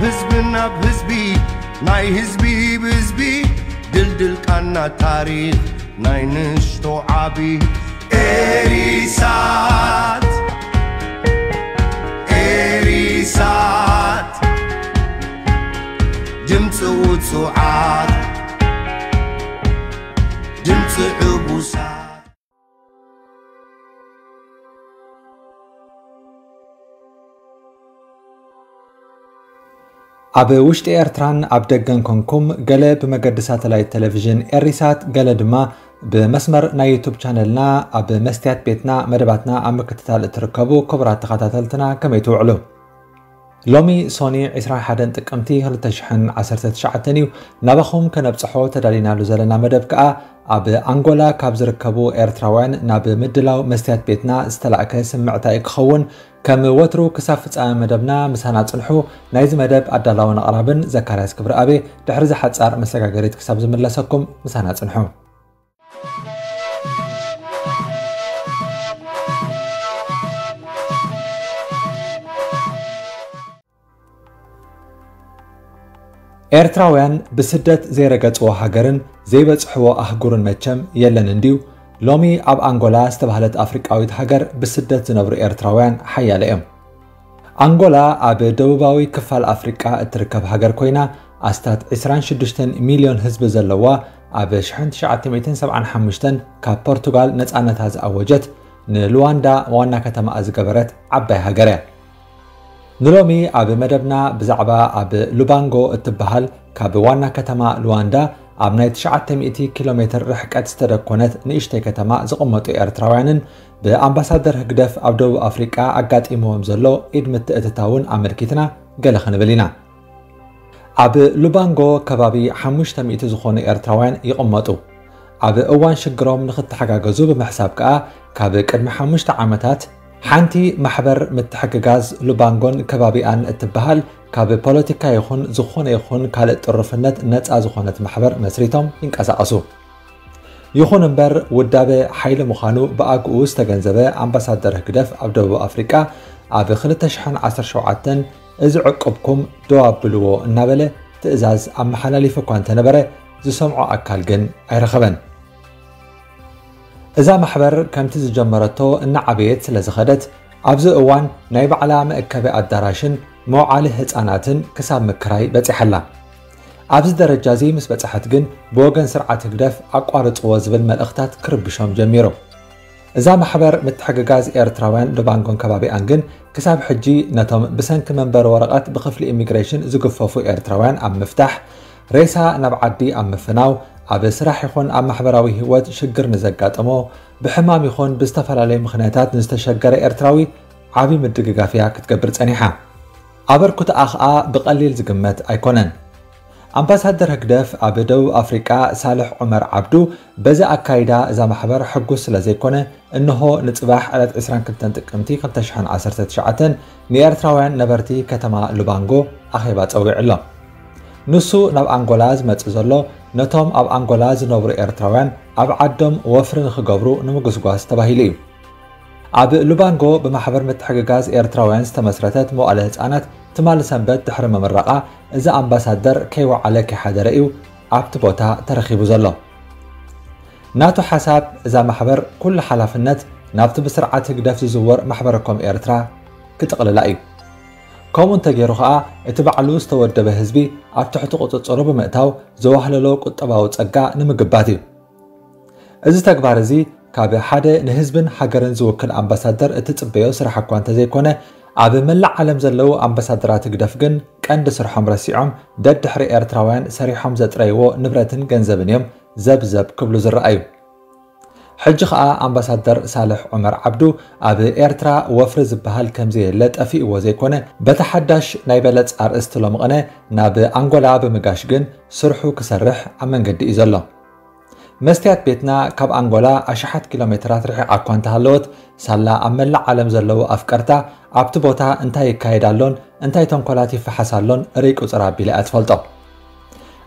ህዝቢ ናብ ህዝቢ፣ ናይ ህዝቢ ብህዝቢ፣ ድልድል ቃና ታሪኽ ናይ ንእሽቶ ዓቢ። ኤሪሳት፣ ኤሪሳት፣ ድምፂ ውፁዓት፣ ድምፂ ዕቡሳት። ኣብ ውሽጢ ኤርትራን ኣብ ደገን ኮንኩም፣ ገለ ብመገዲ ሳተላይት ቴሌቪዥን ኤሪሳት፣ ገለ ድማ ብመስመር ናይ ዩቱብ ቻነልና፣ ኣብ መስትያት ቤትና መደባትና ኣብ ምክትታል እትርከቡ ክቡራት ተኸታተልትና፣ ከመይ ትውዕሉ? ሎሚ ሶኒ ዕስራን ሓደን ጥቅምቲ ክልተ ሽሕን ዓሰርተ ትሽዓተን እዩ። ናባኹም ከነብጽሖ ተዳሊናሉ ዘለና መደብ ከኣ፣ ኣብ ኣንጎላ ካብ ዝርከቡ ኤርትራውያን ናብ ምድላው መስትያት ቤትና ዝተላእከ ስምዕታ እዩ ክኸውን። ከም ወትሩ ክሳብ ፍጻመ መደብና ምሳና ጽንሑ። ናይዚ መደብ ኣዳላውን ኣቕራብን ዘካርያስ ክብረኣብ። ድሕሪ እዚ ሓጻር መሰጋገሪት ክሳብ ዝምለሰኩም ምሳና ጽንሑ። ኤርትራውያን ብስደት ዘይረገጽዎ ሃገርን ዘይበጽሕዎ ኣህጉርን መቸም የለን እንድዩ። ሎሚ ኣብ ኣንጎላ ዝተባህለት ኣፍሪቃዊት ሃገር ብስደት ዝነብሩ ኤርትራውያን ሓያለ እዮም። ኣንጎላ ኣብ ደቡባዊ ክፋል ኣፍሪቃ እትርከብ ሃገር ኮይና፣ ኣስታት ዕስራን ሽዱሽተን ሚልዮን ህዝቢ ዘለዋ፣ ኣብ ሽሕን ትሽዓተ ሚእትን ሰብዓን ሓሙሽተን ካብ ፖርቱጋል ነጻነታ ዝኣወጀት፣ ንሉዋንዳ ዋና ከተማኣ ዝገበረት ዓባይ ሃገር እያ። ንሎሚ ኣብ መደብና ብዛዕባ ኣብ ሉባንጎ እትበሃል ካብ ዋና ከተማ ሉዋንዳ ኣብ ናይ ትሽዓተ ሚእቲ ኪሎ ሜትር ርሕቀት ዝተደኮነት ንእሽተይ ከተማ ዝቕመጡ ኤርትራውያንን ብኣምባሳደር ህግደፍ ኣብ ደቡብ ኣፍሪቃ ኣጋጢምዎም ዘሎ ኢድ ምትእትታውን ኣመልኪትና ገለ ክንብል ኢና። ኣብ ሉባንጎ ከባቢ ሓሙሽተ ሚእቲ ዝኾኑ ኤርትራውያን ይቕመጡ። ኣብ እዋን ሽግሮም ንኽተሓጋገዙ ብምሕሳብ ከኣ፣ ካብ ቅድሚ ሓሙሽተ ዓመታት ሓንቲ ማሕበር ምትሕግጋዝ ሉባንጎን ከባቢኣን እትበሃል፣ ካብ ፖለቲካ ይኹን ዝኾነ ይኹን ካልእ ጥሩፍነት ነጻ ዝኾነት ማሕበር መስሪቶም ይንቀሳቐሱ። ይኹን እምበር፣ ውዳበ ሓይሊ ምዃኑ ብኣግኡ ዝተገንዘበ ኣምባሳደር ህግደፍ ኣብ ደቡብ ኣፍሪቃ፣ ኣብ ክልተ ሽሕን ዓሰርተ ሸውዓተን፣ "እዚ ዕቁብኩም ደው ኣብልዎ" እናበለ ትእዛዝ ኣመሓላሊፉ እኳ እንተነበረ፣ ዝሰምዖ ኣካል ግን ኣይረኸበን። እዛ ማሕበር ከምቲ ዝጀመረቶ እናዓበየት ስለ ዝኸደት፣ ኣብዚ እዋን ናይ ባዕላ መእከቢ ኣዳራሽን መውዓሊ ህጻናትን ክሳብ ምክራይ በጺሓ ኣላ። ኣብዚ ደረጃ እዚ ምስ በጽሐት ግን፣ ብወገን ስርዓት ህግደፍ ኣቋርጽዎ ዝብል መልእኽታት ክርብሾም ጀሚሩ። እዛ ማሕበር ምትሕግጋዝ ኤርትራውያን ሉባንጎን ከባቢኣን ግን፣ ክሳብ ሕጂ ነቶም ብሰንኪ መንበሪ ወረቐት ብክፍሊ ኢሚግሬሽን ዝግፈፉ ኤርትራውያን ኣብ ምፍታሕ፣ ሬሳ ናብ ዓዲ ኣብ ምፍናው፣ ኣብ ስራሕ ይኹን ኣብ ማሕበራዊ ህይወት ሽግር ንዘጋጠሞ፣ ብሕማም ይኹን ብዝተፈላለዩ ምኽንያታት ንዝተሸገረ ኤርትራዊ ዓቢ ምድግጋፍ እያ ክትገብር ጸኒሓ። ኣበርክቶኣ ኸኣ ብቐሊል ዝግመት ኣይኮነን። ኣምባሳደር ህግደፍ ኣብ ደቡብ ኣፍሪቃ ሳልሕ ዑመር ዓብዱ፣ በዚ ኣካይዳ እዛ ማሕበር ሕጉስ ስለ ዘይኮነ፣ እንሆ ንጽባሕ ዕለት ዕስራን ክልተን ጥቅምቲ ክልተ ሽሕን ዓሰርተ ትሽዓተን ንኤርትራውያን ነበርቲ ከተማ ሉባንጎ ኣኼባ ጸዊዑ ኣሎ። ንሱ ናብ ኣንጎላ ዝመጽእ ዘሎ፣ ነቶም ኣብ ኣንጎላ ዝነብሩ ኤርትራውያን ኣብ ዓዶም ወፍሪ ንኽገብሩ ንምጉስጓስ ተባሂሉ እዩ። ኣብ ሉባንጎ ብማሕበር ምትሕግጋዝ ኤርትራውያን ዝተመስረተት መዋእለ ህጻናት፣ ትማሊ ሰንበት ድሕሪ ምምራቓ፣ እዚ ኣምባሳደር ከይወዓለ ከይሓደረ እዩ ኣብቲ ቦታ ተረኺቡ ዘሎ። ናቱ ሓሳብ፣ እዛ ማሕበር ኩሉ ሓላፍነት ናብቲ ብስርዓት ህግደፍ ዝዝወር ማሕበረ ኮም ኤርትራ ክጥቕልላ እዩ። ከምኡ እንተገይሩ ኸኣ፣ እቲ ባዕሉ ዝተወደበ ህዝቢ ኣብ ትሕቲ ቁጽጽሩ ብምእታው፣ ዘዋህለሎ ቁጠባዊ ጸጋ ንምግባት እዩ። እዚ ተግባር እዚ፣ ካብ ሓደ ንህዝብን ሃገርን ዝውክል ኣምባሳደር እትጽበዮ ስራሕ እኳ እንተዘይኮነ፣ ኣብ መላእ ዓለም ዘለዉ ኣምባሳደራት ህግደፍ ግን ቀንዲ ስርሖም ረሲዖም፣ ደድሕሪ ኤርትራውያን ሰሪሖም ዘጥረይዎ ንብረትን ገንዘብን እዮም ዘብዘብ ክብሉ ዝረኣዩ። ሕጂ ኸኣ ኣምባሳደር ሳልሕ ዑመር ዓብዱ፣ ኣብ ኤርትራ ወፍሪ ዝበሃል ከምዘየለ ጠፊእዎ ዘይኮነ፣ በቲ ሓዳሽ ናይ በለጽ ኣርእስቲ ሎምቕነ ናብ ኣንጎላ ብምጋሽ ግን ስርሑ ክሰርሕ ኣብ መንገዲ እዩ ዘሎ። መስትያት ቤትና ካብ ኣንጎላ ኣሽሓት ኪሎ ሜትራት ርሒቓ እኳ እንተሃለወት፣ ሳላ ኣብ መላእ ዓለም ዘለዉ ኣፍቀርታ ኣብቲ ቦታ እንታይ ይካየድ ኣሎን እንታይ ተንኮላት ይፈሓስ ኣሎን ርእይ ቁጽር ኣቢላ እያ ትፈልጦ።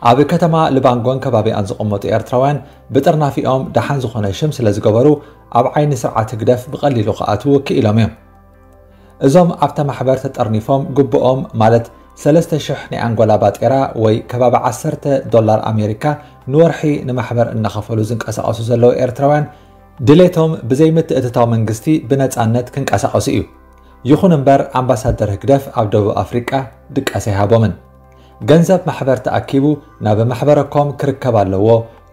ኣብ ከተማ ልባንጎን ከባቢኣን ዝቕመጡ ኤርትራውያን ብጥርናፊኦም ደሓን ዝኾነ ሽም ስለ ዝገበሩ፣ ኣብ ዓይኒ ስርዓት ህግደፍ ብቐሊሉ ክኣትዉ ክኢሎም እዮም። እዞም ኣብታ ማሕበር ተጠርኒፎም ግቡኦም፣ ማለት ሰለስተ ሽሕ ናይ ኣንጎላ ባጤራ ወይ ከባቢ ዓሰርተ ዶላር ኣሜሪካ ንወርሒ ንማሕበር እናኸፈሉ ዝንቀሳቐሱ ዘለዉ ኤርትራውያን ድሌቶም ብዘይ ምትእትታው መንግስቲ ብነጻነት ክንቀሳቐሱ እዩ። ይኹን እምበር ኣምባሳደር ህግደፍ ኣብ ደቡብ ኣፍሪቃ ድቃስ ኣይሃቦምን። ገንዘብ ማሕበር ተኣኪቡ ናብ ማሕበረኮም ክርከብ ኣለዎ፣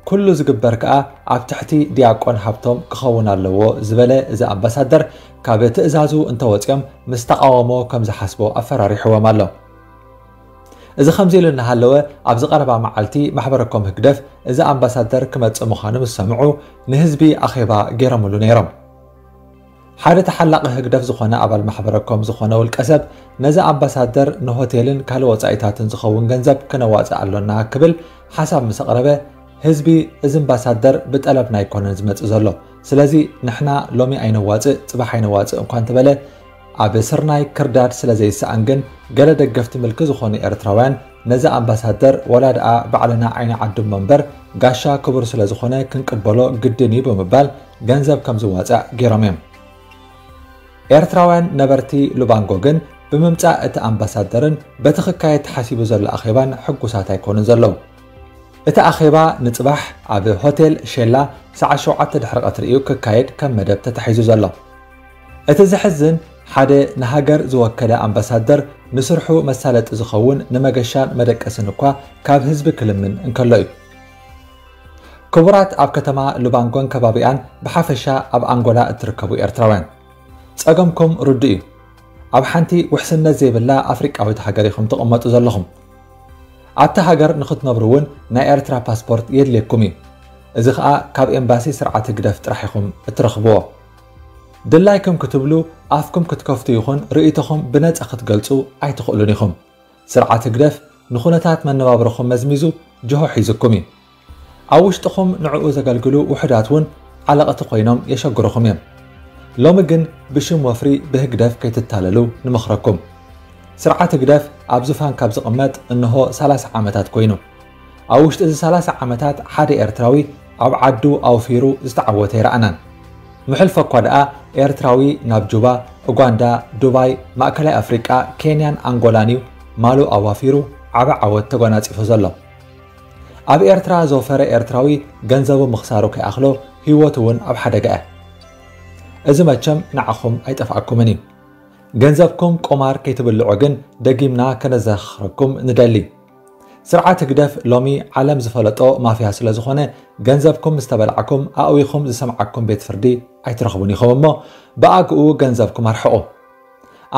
ኩሉ ዝግበር ከኣ ኣብ ትሕቲ ዲያቆን ሃብቶም ክኸውን ኣለዎ ዝበለ እዚ ኣምባሳደር ካብ ትእዛዙ እንተወጺኦም ምስ ተቓወሞ ከም ዝሓስቦ ኣፈራሪሕዎም ኣሎ። እዚ ከምዚ ኢሉ እናሃለወ ኣብዚ ቀረባ መዓልቲ ማሕበረኮም ህግደፍ እዚ ኣምባሳደር ክመጽእ ምዃኑ ምስ ሰምዑ ንህዝቢ ኣኼባ ገይሮምሉ ነይሮም። ሓደ ተሓላቒ ህግደፍ ዝኾነ ኣባል ማሕበረኮም ዝኾነ ውልቀ ሰብ ነዚ ኣምባሳደር ንሆቴልን ካልእ ወጻኢታትን ዝኸውን ገንዘብ ክነዋጽእ ኣሎና ክብል ሓሳብ ምስ ኣቕረበ ህዝቢ እዚ ኣምባሳደር ብጠለብና ኣይኮነን ዝመጽእ ዘሎ፣ ስለዚ ንሕና ሎሚ ኣይነዋጽእ ጽባሕ ኣይነዋጽእ እንኳ እንተበለ ኣብ ስርናይ ክርዳድ ስለ ዘይሰኣን ግን ገለ ደገፍቲ ምልኪ ዝኾኑ ኤርትራውያን ነዚ ኣምባሳደር ወላ ደኣ ባዕልና ዓይኒ ዓዱ እሞ እምበር ጋሻ ክቡር ስለ ዝኾነ ክንቅበሎ ግድን እዩ ብምባል ገንዘብ ከም ዝዋጻእ ገይሮም እዮም። ኤርትራውያን ነበርቲ ሉባንጎ ግን ብምምጻእ እቲ ኣምባሳደርን በቲ ክካየድ ተሓሲቡ ዘሎ ኣኼባን ሕጉሳት ኣይኮኑን ዘለዉ። እቲ ኣኼባ ንጽባሕ ኣብ ሆቴል ሼላ ሰዓት ሸውዓተ ድሕሪ ቀትሪ እዩ ክካየድ ከም መደብ ተታሒዙ ዘሎ። እቲ ዘሕዝን ሓደ ንሃገር ዝወከለ ኣምባሳደር ንስርሑ መሳለጢ ዝኸውን ንመገሻን መደቀስን እኳ ካብ ህዝቢ ክልምን እንከሎ እዩ። ክቡራት ኣብ ከተማ ሉባንጎን ከባቢኣን ብሓፈሻ ኣብ ኣንጎላ እትርከቡ ኤርትራውያን ጸገምኩም ርዱእ እዩ። ኣብ ሓንቲ ውሕስነት ዘይብላ ኣፍሪቃዊት ሃገር ኢኹም ትቕመጡ ዘለኹም። ኣብቲ ሃገር ንኽትነብሩ እውን ናይ ኤርትራ ፓስፖርት የድልየኩም እዩ። እዚ ኸኣ ካብ ኤምባሲ ስርዓት ህግደፍ ጥራሕ ኢኹም እትረኽብዎ። ድላይኩም ክትብሉ ኣፍኩም ክትከፍቱ ይኹን ርእይቶኹም ብነጻ ክትገልጹ ኣይትኽእሉን ኢኹም። ስርዓት ህግደፍ ንኹነታት መነባብሮኹም መዝሚዙ ጅሆ ሒዙኩም እዩ። ኣብ ውሽጥኹም ንዕኡ ዘገልግሉ ውሑዳት እውን ዓለቕቲ ኮይኖም የሸግሩኹም እዮም። ሎሚ ግን ብሽም ወፍሪ ብህግደፍ ከይትታለሉ ንመኽረኩም። ስርዓት ህግደፍ ኣብ ዙፋን ካብ ዝቕመጥ እንሆ ሰላሳ ዓመታት ኮይኑ። ኣብ ውሽጢ እዚ ሰላሳ ዓመታት ሓደ ኤርትራዊ ኣብ ዓዱ ኣውፊሩ ዝተዓወተ ኣይረኣናን። ምሕልፎ እኳ ደኣ ኤርትራዊ ናብ ጁባ፣ ኡጋንዳ፣ ዱባይ፣ ማእከላይ ኣፍሪቃ፣ ኬንያን ኣንጎላን እዩ ማሉ ኣዋፊሩ ዓቢ ዓወት ተጎናጺፉ ዘሎ። ኣብ ኤርትራ ዘውፈረ ኤርትራዊ ገንዘቡ ምኽሳሩ ከይኣኽሎ ህይወቱ እውን ኣብ ሓደጋ እያ። እዚ መቸም ንዓኹም ኣይጠፍኣኩምን እዩ። ገንዘብኩም ቁማር ከይትብልዑ ግን ደጊምና ከነዘኻኽረኩም ንደሊ። ስርዓት ህግደፍ ሎሚ ዓለም ዝፈለጦ ማፍያ ስለ ዝኾነ ገንዘብኩም ምስ ተበላዕኩም ኣእዊኹም ዝሰምዓኩም ቤት ፍርዲ ኣይትረኽቡን ኢኹም እሞ ብኣግኡ ገንዘብኩም ኣርሕቑ።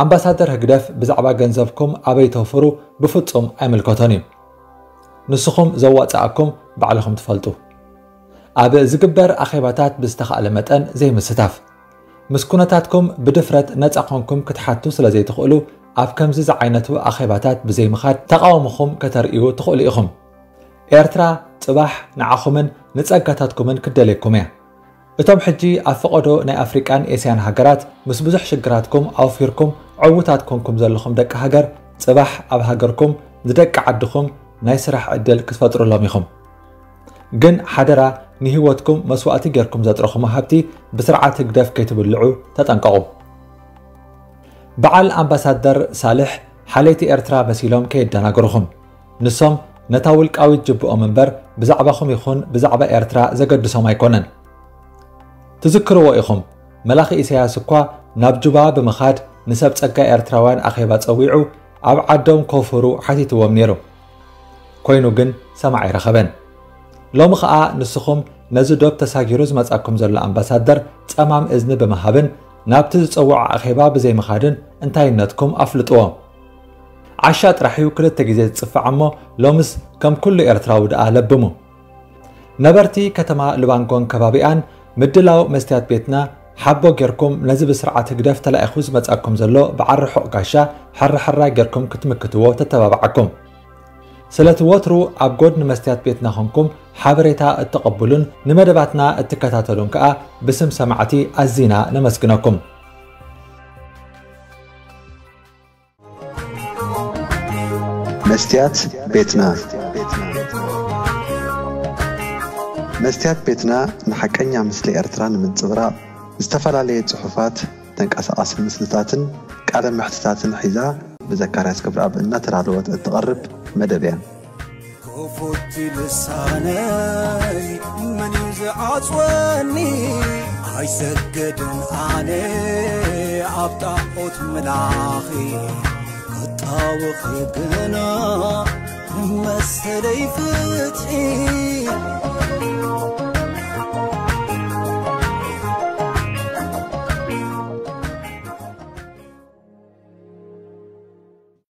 ኣምባሳደር ህግደፍ ብዛዕባ ገንዘብኩም ኣበይ ተውፍሩ ብፍጹም ኣይምልከቶን እዩ። ንስኹም ዘዋጽኣኩም ባዕልኹም ትፈልጡ። ኣብ ዝግበር ኣኼባታት ብዝተኻእለ መጠን ዘይምስታፍ። ምስ ኩነታትኩም ብድፍረት ነጻ ኮንኩም ክትሓቱ ስለ ዘይትኽእሉ ኣብ ከምዚ ዝዓይነቱ ኣኼባታት ብዘይምኻድ ተቓውሞኹም ከተርእዩ ትኽእሉ ኢኹም። ኤርትራ ጽባሕ ንዓኹምን ንጸጋታትኩምን ክደልየኩም እያ። እቶም ሕጂ ኣብ ፈቐዶ ናይ ኣፍሪቃን ኤስያን ሃገራት ምስ ብዙሕ ሽግራትኩም ኣውፊርኩም ዕዉታት ኮንኩም ዘለኹም ደቂ ሃገር ጽባሕ ኣብ ሃገርኩም ንደቂ ዓድኹም ናይ ስራሕ ዕድል ክትፈጥሩሎም ኢኹም። ግን ሓደራ ንህይወትኩም መስዋእቲ ጌርኩም ዘጥረኹሞ ሃብቲ ብስርዓት ህግደፍ ከይትብልዑ ተጠንቀቑ። በዓል ኣምባሳደር ሳልሕ ሓለይቲ ኤርትራ መሲሎም ከየደናግሩኹም። ንሶም ነታ ውልቃዊት ጅብኦም እምበር ብዛዕባኹም ይኹን ብዛዕባ ኤርትራ ዘገድሶም ኣይኮነን። ትዝክርዎ ኢኹም፣ መላኺ ኢሳያስ እኳ ናብ ጁባ ብምኻድ ንሰብ ጸጋ ኤርትራውያን ኣኼባ ጸዊዑ ኣብ ዓዶም ከውፍሩ ሓቲትዎም ነይሩ። ኮይኑ ግን ሰማዕ ኣይረኸበን። ሎሚ ኸኣ ንስኹም ነዚ ዶብ ተሳጊሩ ዝመጻኩም ዘሎ ኣምባሳደር ጸማም እዝኒ ብምሃብን ናብቲ ዝጸውዖ ኣኼባ ብዘይምኻድን እንታይነትኩም ኣፍልጥዎ። ዓሻ ጥራሕ እዩ ክልተ ግዜ ዝጽፋዕ እሞ ሎምስ ከም ኩሉ ኤርትራዊ ደኣ ለብሙ። ነበርቲ ከተማ ሉባንጎን ከባቢኣን ምድላው መስትያት ቤትና ሓቦ ጌርኩም ነዚ ብስርዓት ህግደፍ ተላኢኹ ዝመጻኩም ዘሎ በዓል ርሑቕ ጋሻ ሕራሕራ ጌርኩም ክትምክትዎ ተተባብዓኩም። ስለቲ ወትሩ ኣብ ጎድኒ መስትያት ቤትና ኾንኩም ሓበሬታ እተቐብሉን ንመደባትና እትከታተሉን ከኣ ብስም ሰማዕቲ ኣዚና ነመስግነኩም። መስትያት ቤትና። መስትያት ቤትና ንሓቀኛ ምስሊ ኤርትራ ንምንጽብራቕ ዝተፈላለየ ጽሑፋት፣ ተንቀሳቓሲ ምስልታትን ቃለ መሕትታትን ሒዛ ብዘካርያስ ክብረኣብ እናተዳለወት እትቐርብ መደብ እያ። ክፉት ልሳነይ መን እዩ ዝዓጽወኒ? ኣይሰግድን ኣነ ኣብ ጣዖት ምላኺ ክጣወኺ ግና መሰለይ ፍትሒ።